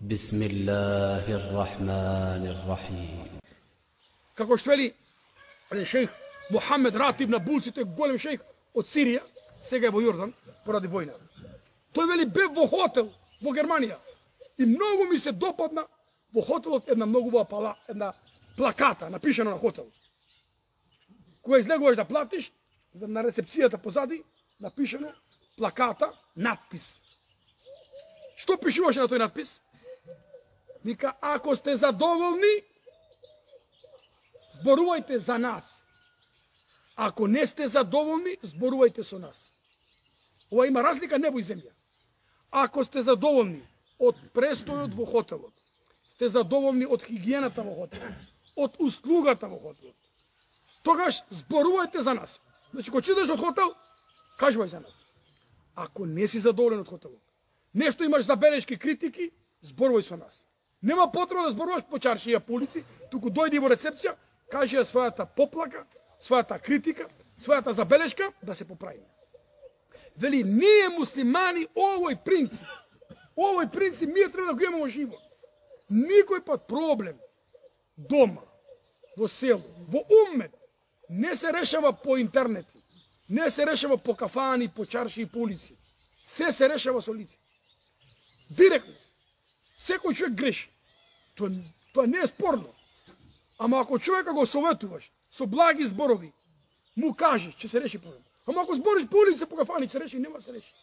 Bismillahirrahmanirrahim. Како што вели шејх Мухамед Ратиб на Булци, тој голем шејх од Сирија, сега е во Јордан поради војна. Тој вели бев во хотел во Германија и многу ми се допадна во хотелот една многу убава една плаката напишано на хотел. Кога излегуваш да платиш, на рецепцијата позади напишано плаката, надпис. Што пишуваше на тој надпис? Вика, ако сте задоволни, зборувајте за нас. Ако не сте задоволни, зборувајте со нас. Ова има разлика небо и земја. Ако сте задоволни од престојот во хотелот, сте задоволни од хигиената во хотелот, од услугата во хотелот, тогаш зборувајте за нас. Значи, кога идеш од хотел, кажувај за нас. Ако не си задоволен од хотелот, нешто имаш забелешки, критики, зборувај со нас. Нема потреба да зборуваш по чаршија, по улици, туку дојди во рецепција, кажи ја својата поплака, својата критика, својата забелешка, да се поправиме. Вели, ние муслимани овој принцип ние треба да го имаме во живот. Никој пат проблем дома, во село, во уммет, не се решава по интернети, не се решава по кафани, по чарши и по улици. Се решава со лице. Директно. Секој човек греши. Тоа не е спорно. Ама ако човека го советуваш со благи зборови, му кажеш, че се реши проблем. Ама ако збориш по улица, по кафани, се реши, нема се реши.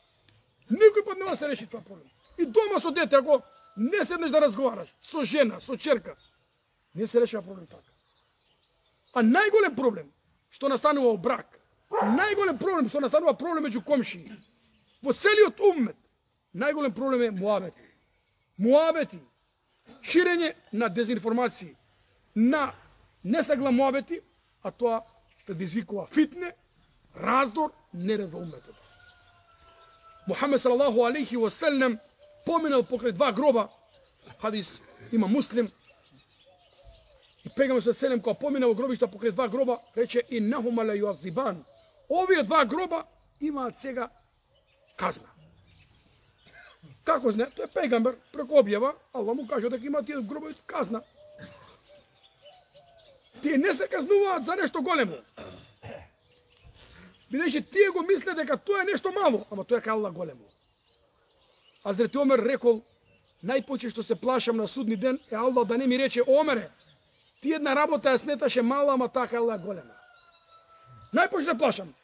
Никој пат нема се реши тоа проблем. И дома со дете, ако не седнеш да разговараш со жена, со черка, не се решава проблем така. А најголем проблем што настанува во брак, најголем проблем што настанува проблем меѓу комшии, во целиот уммет, најголем проблем е муабети. Муабети, ширење на дезинформации, на несагла муабети, а тоа предизвикува фитне, раздор, неред во умметот. Мухамед салалаху алейхи ва селем поминал покрај два гроба, хадис има Муслим, и Пегамбер селем кога поминал во гробишта покрај два гроба, рече иннахума ла юазибан. Овие два гроба имаат сега казна. Како знае? Тој е Пегамбер, преку објава, Аллах му кажа дека има тие гробови казна. Тие не се казнуваат за нешто големо. Бидејќи тие го мисле дека тоа е нешто мало, ама тоа е кај Аллах големо. Хазрети Омер рекол, најпоќе што се плашам на судни ден е Аллах да не ми рече, Омере, ти една работа ја сметаше мала, ама така е Аллах голема. Најпоќе се плашам.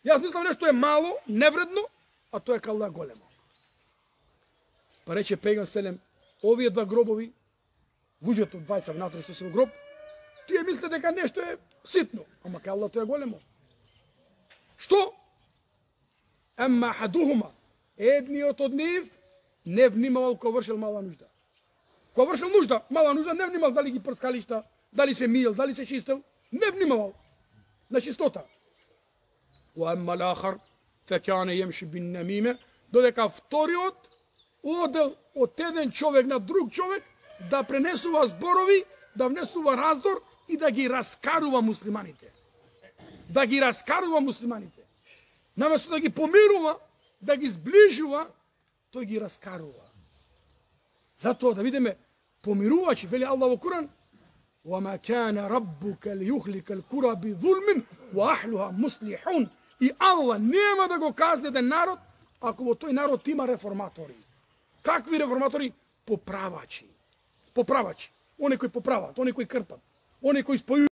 Јас мислам нешто е мало, невредно, а тоа е кај Аллах големо. Па рече Пегамбер селем, овие два гробови, луѓето двајца внатре што се во гроб, тие мисле дека нешто е ситно, ама кај Аллах тоа е големо. Што? Ема хадухума, едниот од нив не внимавал кога вршил мала нужда. Кога вршил нужда, мала нужда, не внимавал дали ги прскалишта, дали се миел, дали се чистел, не внимавал на чистота. Ва ема лахар, фекане јемши бин намиме, додека вториот одел од еден човек на друг човек да пренесува зборови, да внесува раздор и да ги раскарува муслиманите. Да ги раскарува муслиманите. Наместо да ги помирува, да ги сближува, тој ги раскарува. Затоа да видиме помирувачи, вели Аллах во Куран, وَمَا كَانَ رَبُّكَ لِيُخْلِكَ الْقُرَى بِظُلْمٍ وَأَهْلُهَا مُصْلِحُونَ. И Аллах нема да го казни еден народ, ако во тој народ има реформатори. Какви реформатори? Поправачи. Поправачи. Они кои поправат, они кои крпат, они кои спојуваат.